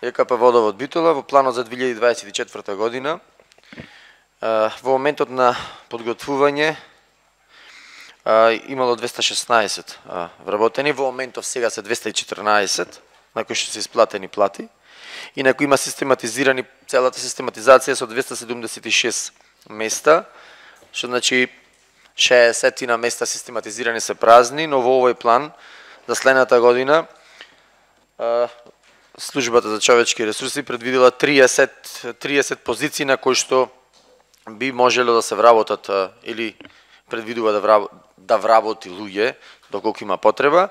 ЕКП Водовод Битола во планот за 2024 година. Во моментот на подготвување имало 216 вработени, во моментов сега се 214, на кои што се исплатени плати, и на кои има систематизирани целата систематизација со 276 места, што значи 60 на места систематизирани се празни, но во овој план за следната година Службата за човечки ресурси предвидела 30 позиции на кои што би можело да се вработат или предвидува да вработи луѓе доколку има потреба,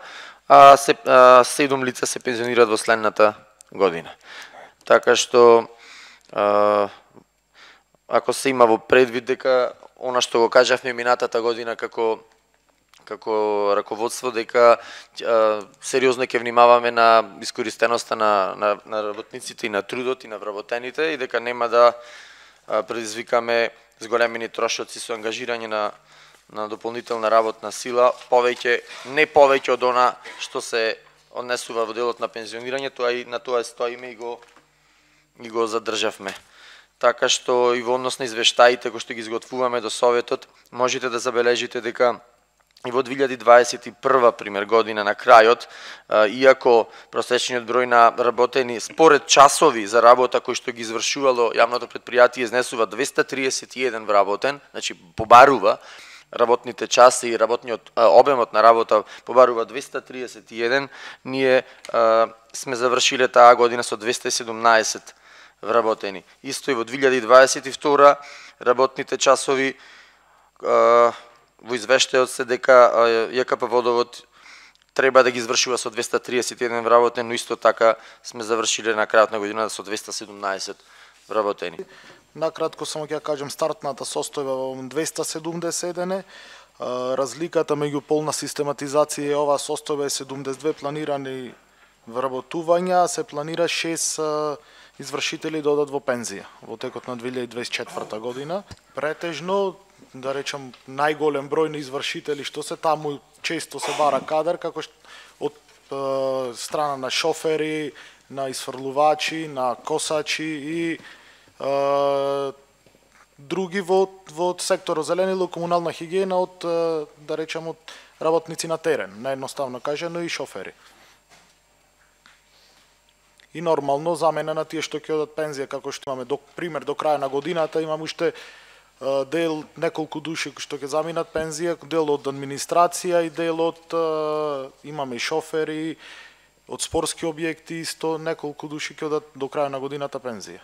а 7 лица се пензионираат во следната година. Така што ако се има во предвид дека она што го кажавме минатата година како раководство, дека сериозно ќе внимаваме на искористеноста на работниците и на трудот и на вработените и дека нема да предизвикаме зголемени трошоци со ангажирање на дополнителна работна сила, не повеќе од она што се однесува во делот на пензионирање, на тоа стоиме и го задржавме. Така што и во однос на извештаите кои што ги изготвуваме до Советот, можете да забележите дека и во 2021 пример година на крајот, иако просечниот број на работени според часови за работа кои што ги извршувало јавното претпријатие изнесува 231 вработен, значи побарува работните часи и работниот обемот на работа побарува 231, ние сме завршиле таа година со 217 вработени. Исто и во 2022 работните часови во извештајот се дека ЈКП Водовод треба да ги извршува со 231 вработени, но исто така сме завршиле на крајот на годината со 217 вработени. Накратко само ќе кажам стартната состојба во 271, разликата меѓу полна систематизација и оваа состојба е 72 планирани вработувања, се планира 6 извршители да одат во пензија во текот на 2024 година. Претежно, да речам, најголем број на извршители што се таму често се бара кадар, како од страна на шофери, на исфрлувачи, на косачи и други во секторот зеленило, комунална хигиена, да речам, од работници на терен, наедноставно кажано и шофери. И нормално замена на тие што ќе одат пензија, како што имаме пример до крај на годината, имаме уште дел неколку души што ќе заминат пензија, дел од администрација и дел од имаме и шофери од спортски објекти, исто неколку души ќе одат до крај на годината пензија.